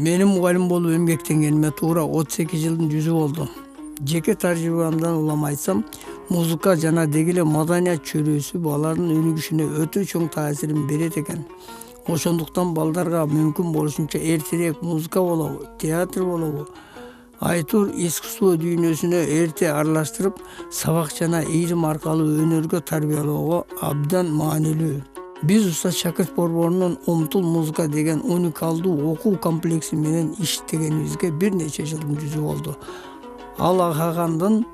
Менин мугалим болуп эмгектенгениме туура 38 жылдын жүзү болду. Жеке тажрыйбамдан улам айтсам, музыка жана деги эле маданият чөйрөсү баланын өнүгүшүнө өтө чоң таасирин берет экен. Ошондуктан балдарга мүмкүн болушунча эртерээк музыка болобу, театр болобу, айтуур искусство дүйнөсүнө эрте аралаштырып, сабак жана ийрим аркылуу өнөргө тарбиялоого абдан маанилүү. Биз Устат шакырт борборунун Умтул музыка деген уникалдуу окуу комплекси менен иштегенибизге бир нече жылдын жүзү болду. Ал Агагандын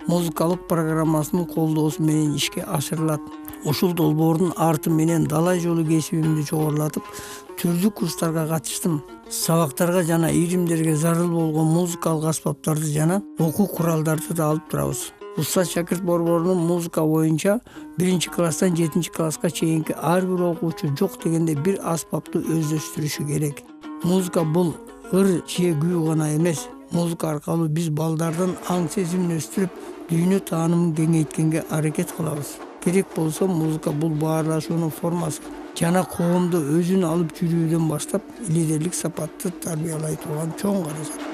музыкалык программасынын колдоосу менен ишке ашырылат. Ушул долбоордун арты менен далай жолу кесибимди жогорулатып, түрдүү курстарга катыштым. Сабактарга жана ийримдерге зарыл болгон музыкалык аспаптарды жана окуу куралдарды да алып турабыз. Устат шакырт борборунун музыка боюнча 1-класстан 7-класска чейинки ар бир окуучу жок дегенде бир аспапты өздөштүрүшү керек. Музыка бул ыр же күү гана эмес. Музыка аркылуу биз балдардын аң сезимин өстүрүп, дүйнө таанымын кеңейткенге аракет кылабыз. Керек болсо музыка бул баарлашуунун формасы жана коомду өзүн алып жүрүүдөн баштап лидерлик сапатты тарбиялай турган чоң каражат.